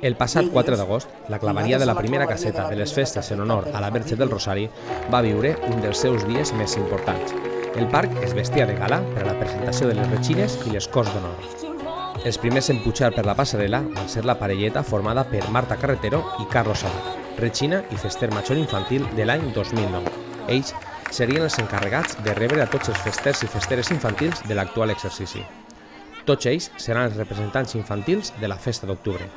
El passat 4 d'agost, la claveria de la primera caseta de les festes en honor a la Verge del Rosari va viure un dels seus dies més importants. El parc es vestia de gala per a la presentació de les retxines i les Corts d'Honor. Els primers en pujar per la passarel·la van ser la parelleta formada per Marta Carretero i Carlos Sabat, retxina i fester major infantil de l'any 2009. Ells serien els encarregats de rebre a tots els festers i festeres infantils de l'actual exercici. Tots ells seran els representants infantils de la festa d'octubre.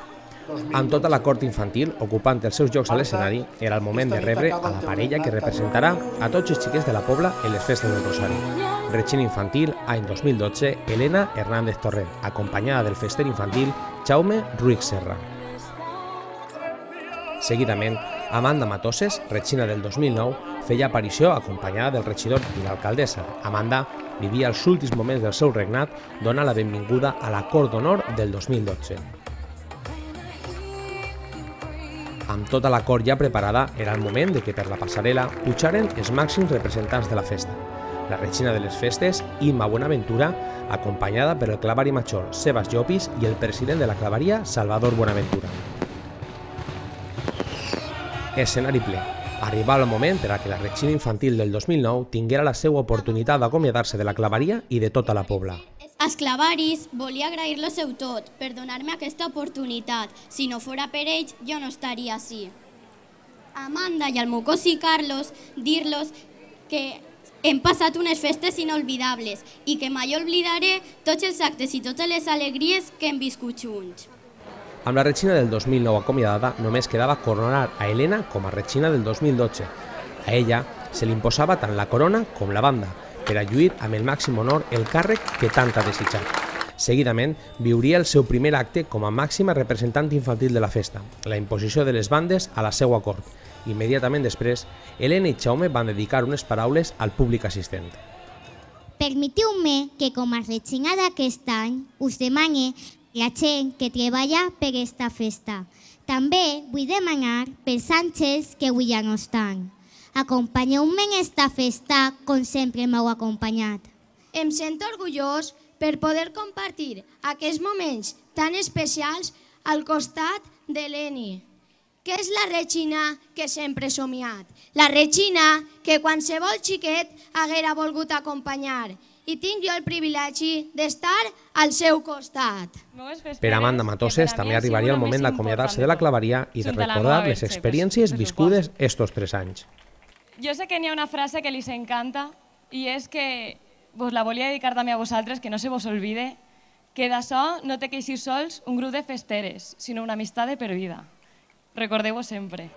Amb tota la cort infantil ocupant els seus llocs a l'escenari, era el moment de rebre a la parella que representarà a tots els xiquets de la Pobla en les festes del Rosari. Retxina infantil, any 2012, Elena Hernández Torrent, acompanyada del fester infantil Jaume Ruiz Serra. Seguidament, Amanda Matoses, retxina del 2009, feia aparició acompanyada del regidor i l'alcaldessa. Amanda vivia els últims moments del seu regnat, dona la benvinguda a la Cort d'Honor del 2012. Amb tota la cort ja preparada, era el moment de que per la passarel·la pujaren els màxims representants de la festa. La regina de les festes, Imma Buenaventura, acompanyada per el clavari major Sebas Llopis i el president de la claveria, Salvador Buenaventura. Escenari ple. Arribava el moment per a que la retxina infantil del 2009 tinguera la seva oportunitat d'acomiadar-se de la claveria i de tota la Pobla. Als clavaris volia agrair-lo seu tot per donar-me aquesta oportunitat. Si no fora per ells, jo no estaria així. A Amanda i al meu cosí Carlos, dir-los que hem passat unes festes inolvidables i que mai oblidaré tots els actes i totes les alegries que hem viscut junts. Amb la retxina del 2009 acomiadada, només quedava coronar a Elena com a retxina del 2012. A ella se li imposava tant la corona com la banda, per a lluir amb el màxim honor el càrrec que tant ha desitjat. Seguidament, viuria el seu primer acte com a màxima representant infantil de la festa, la imposició de les bandes a la seva cort. Immediatament després, Elena i Jaume van dedicar unes paraules al públic assistent. Permetiu-me que com a retxina d'aquest any us demane la gent que treballa per aquesta festa. També vull demanar pels àngels que avui ja no estan. Acompanyeu-me en esta festa com sempre m'heu acompanyat. Em sento orgullós per poder compartir aquests moments tan especials al costat de l'Eni, que és la retxina que sempre he somiat. La retxina que qualsevol xiquet haguera volgut acompanyar. I tinc jo el privilegi d'estar al seu costat. Per Amanda Matoses també arribaria el moment d'acomiadar-se de la claveria i de recordar les experiències viscudes estos 3 anys. Jo sé que n'hi ha una frase que li encanta i és que vos la volia dedicar també a vosaltres, que no se vos olvide que d'això no té que eixir sols un grup de festeres, sinó una amistat de per vida. Recordeu-ho sempre.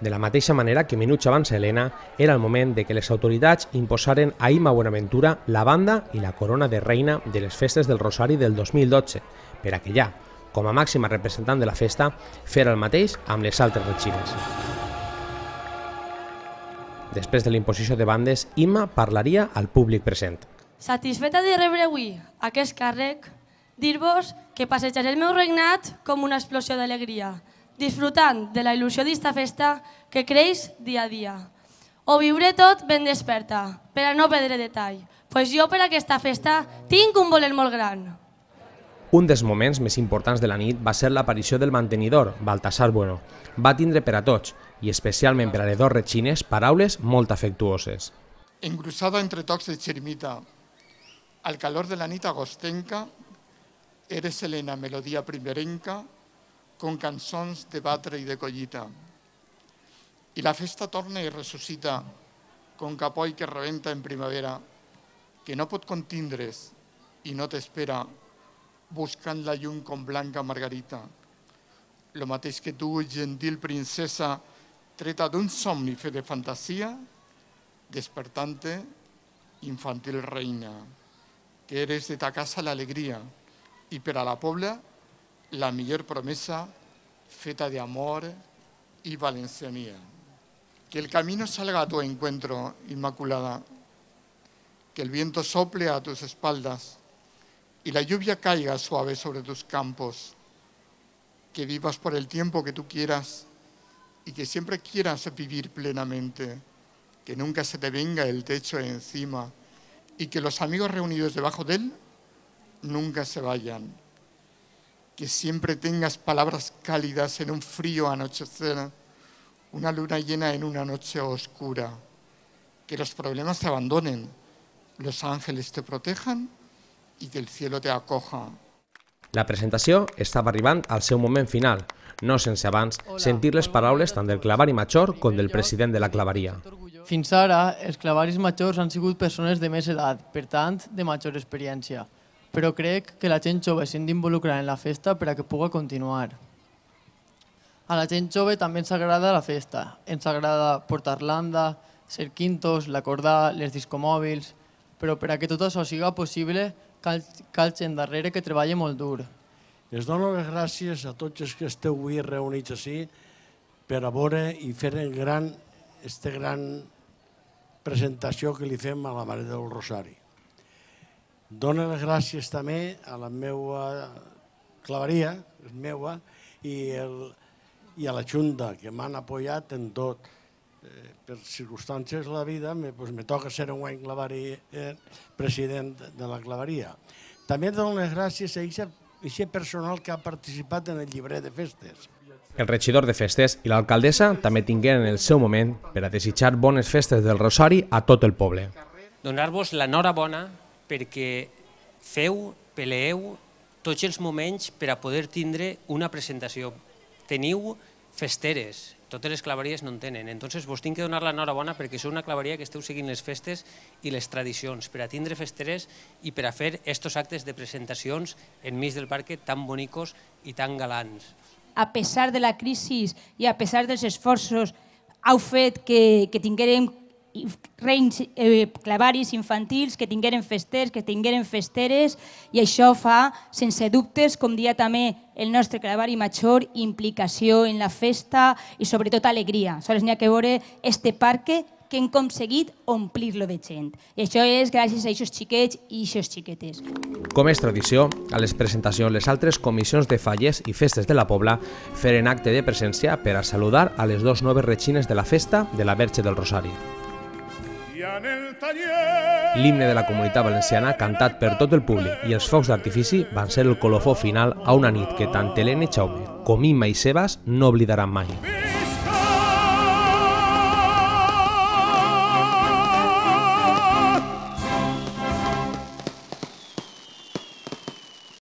De la mateixa manera que minuts abans a Elena, era el moment de que les autoritats imposaren a Imma Buenaventura la banda i la corona de reina de les festes del Rosari del 2012, per a que ja, com a màxima representant de la festa, fera el mateix amb les altres retxines. Després de la imposició de bandes, Imma parlaria al públic present. Satisfeta de rebre avui aquest càrrec, dir-vos que passejaré el meu regnat com una explosió d'alegria, disfrutant de la il·lusió d'esta festa que creix dia a dia. Ho viuré tot ben desperta, per a no perdre detall, pues jo per aquesta festa tinc un voler molt gran. Un dels moments més importants de la nit va ser l'aparició del mantenidor, Baltasar Bueno. Va tindre per a tots, i especialment per a les 2 retxines, paraules molt afectuoses. Engrusada entre tocs de xerimita, al calor de la nit agostenca, eres Elena, melodia primerenca, con cançons de batre i de collita. I la festa torna i ressuscita, con capoll que rebenta en primavera, que no pot contindre's i no t'espera, buscant la llum com blanca margarita. Lo mateix que tu, gentil princesa, treta d'un somni fet de fantasia, despertante, infantil reina, que eres de ta casa l'alegria i per a la Pobla la millor promesa feta de amor y valencianía. Que el camino salga a tu encuentro, Inmaculada, que el viento sople a tus espaldas y la lluvia caiga suave sobre tus campos, que vivas por el tiempo que tú quieras y que siempre quieras vivir plenamente, que nunca se te venga el techo encima y que los amigos reunidos debajo de él nunca se vayan. que siempre tengas palabras cálidas en un frío anochecer, una luna llena en una noche oscura, que los problemas te abandonen, los ángeles te protejan i que el cielo te acoja. La presentació estava arribant al seu moment final, no sense abans sentir les paraules tant del clavari major com del president de la claveria. Fins ara, els clavaris majors han sigut persones de més edat, per tant, de major experiència. Però crec que la gent jove s'ha d'involucrar en la festa per a que pugui continuar. A la gent jove també ens agrada la festa. Ens agrada portar l'anda, ser quintos, l'acordar, les discomòbils... Però per a que tot això sigui possible, cal gent darrere que treballa molt dur. Es dono les gràcies a tots els que esteu avui reunits així per a veure i fer aquesta gran presentació que li fem a la Mare del Rosari. Dono les gràcies també a la meva claveria, meva, i a la Junta, que m'han apoyat en tot. Per circumstàncies de la vida, me toca ser un any president de la claveria. També dono les gràcies a aquest personal que ha participat en el llibret de festes. El regidor de festes i l'alcaldessa també tingueren el seu moment per a desitjar bones festes del Rosari a tot el poble. Donar-vos l'enhorabona perquè peleeu tots els moments per a poder tindre una presentació. Teniu festeres, totes les claveries no en tenen, entonces vos tinc que donar l'enhorabona perquè sou una claveria que esteu seguint les festes i les tradicions per a tindre festeres i per a fer estos actes de presentacions enmig del parc tan bonicos i tan galants. A pesar de la crisi i a pesar dels esforços, heu fet que tinguérem clavaris infantils, que tingueren festers, que tingueren festeres, i això fa, sense dubtes, com dia també el nostre clavari major, implicació en la festa i sobretot alegria. Sols n'hi ha que veure este parc que hem aconseguit omplir-lo de gent. I això és gràcies a aquests xiquets i aquestes xiquetes. Com és tradició, a les presentacions les altres comissions de falles i festes de la Pobla feren acte de presència per a saludar a les dues noves retxines de la festa de la Verge del Rosari. L'himne de la Comunitat Valenciana, cantat per tot el públic, i els focs d'artifici van ser el colofó final a una nit que tant Helena i Jaume com Imma i Sebas no oblidaran mai.